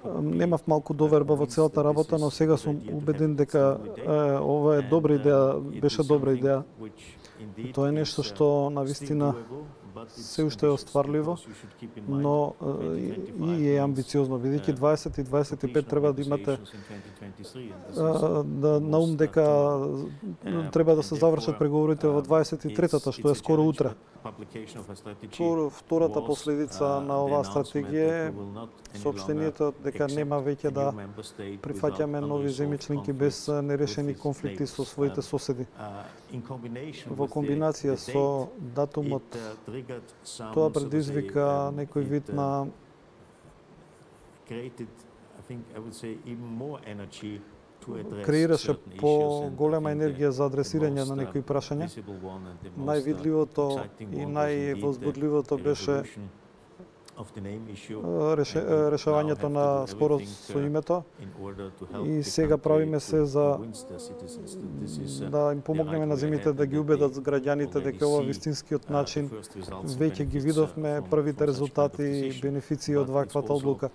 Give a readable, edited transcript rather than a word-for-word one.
Немав малку доверба во целата работа, но сега сум убеден дека ова е добра идеја, беше добра идеја. Тоа е нешто што навистина се уште е остварливо, но и е амбициозно, бидејќи 20 и 25 треба да имате на ум дека треба да се завршат преговорите во 23-та, што е скоро утре. Втората последица на оваа стратегија е соопштението дека нема веќе да прифаќаме нови земји членки без нерешени конфликти со своите соседи. Во комбинација со датумот, тоа предизвика некој вид на креираше по-голема енергија за адресирање на некои прашања. Највидливото и највозбудливото беше решавањето на спорот со името, и сега правиме се за да им помогнеме на земјите да ги убедат граѓаните дека ова вистинскиот начин. Веќе ги видовме првите резултати и бенефиции од ваквата одлука.